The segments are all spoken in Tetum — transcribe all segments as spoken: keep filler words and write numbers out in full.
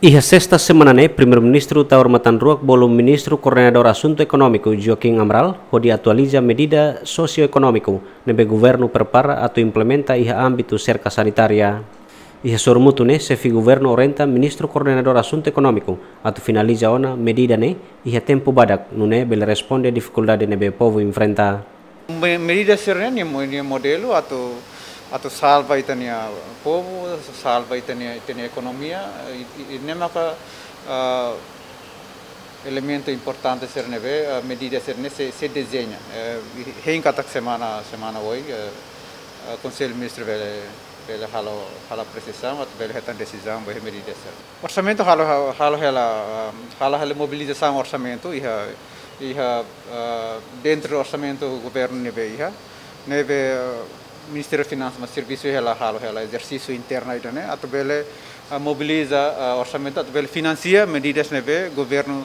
Iha sesta semana ne'e, Primeiru-Ministru Taur Matan Ruak bolu Ministru Koordenadór Asuntu Ekonómiku Joaquim Amaral hodi atualiza medida sosioekonómiku ne'ebé governu prepara atu implementa iha ámbitu serka sanitária. Iha sorumutu ne'e, xefe governu orienta Ministru Koordenadór Asuntu Ekonómiku atu finaliza ona medida ne'e iha tempu badak, nune'e bele responde difikuldade ne'ebé povu enfrenta. Me-, medida sira-ne'e nia mo-, nia modelu atu, atu salva ita-nia povu, salva ita-nia, ita-nia ekonomia, i, i, i ne'e maka, ah, elementu importante sira ne'ebé, ah, medida sira-ne'e sei, sei dezeña. Eh, i hein katak semana, semana oin, eh, ah, Konsellu Ministru bele, bele halo, halo apresiasaun, atu bele hetan desizaun ba medida sira. Orsamentu halo, halo hela, ah, halo hela mobilizasaun orsamentu, iha, iha, ah, dentru orsamentu governu ne'ebé iha, ne'ebé, ah, Ministériu Finansas mós servisu hela, halo hela ezersísiu internu ida-ne'e, atu bele, ah, mobiliza, ah, orsamentu, atu bele finansia medidas ne'ebé governu,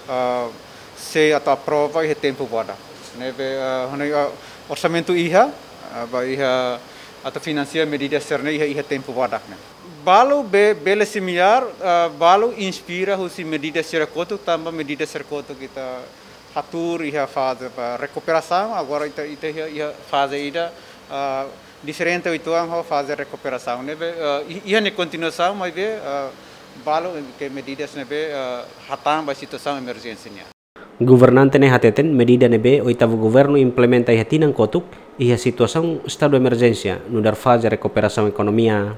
ah, sei atu aprova iha tempu badak. Ne'ebé, ah, hone, ah, orsamentu iha, ah, ba iha, atu finansia medidas sira-ne'e iha, iha tempu badak ne'e. Balu be-, bele similár, ah, balu inspira husi medida sira kotuk, tanba medida sira kotuk ita hatuur iha faze ba rekuperasaun, agora ita, ita iha, iha faze ida, ah, diferente uitoan ho faze rekuperasaun. Ne'ebé, ah, i-, iha nia kontinuasaun, maibé, ah, balu ke medidas ne'ebé, ah, hatán ba situasaun emerjénsia nian. Governante ne'e hateten medida ne'ebé oitavu governu implementa iha tinan kotuk, iha situasaun estadu emerjénsia, nu'udar faze rekuperasaun ekonomia.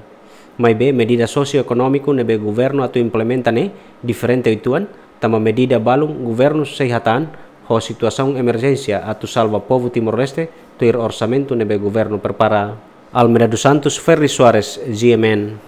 Maibé medida sosioekonómiku ne'ebé governu atu implementa ne'e diferente uitoan, tanba medida balun governu sei hatán ho situasaun emerjénsia atu salva povu Timor-Leste tuir orsamentu ne'ebé governu prepara. Almeida dos Santos, Ferri Soares, G M N.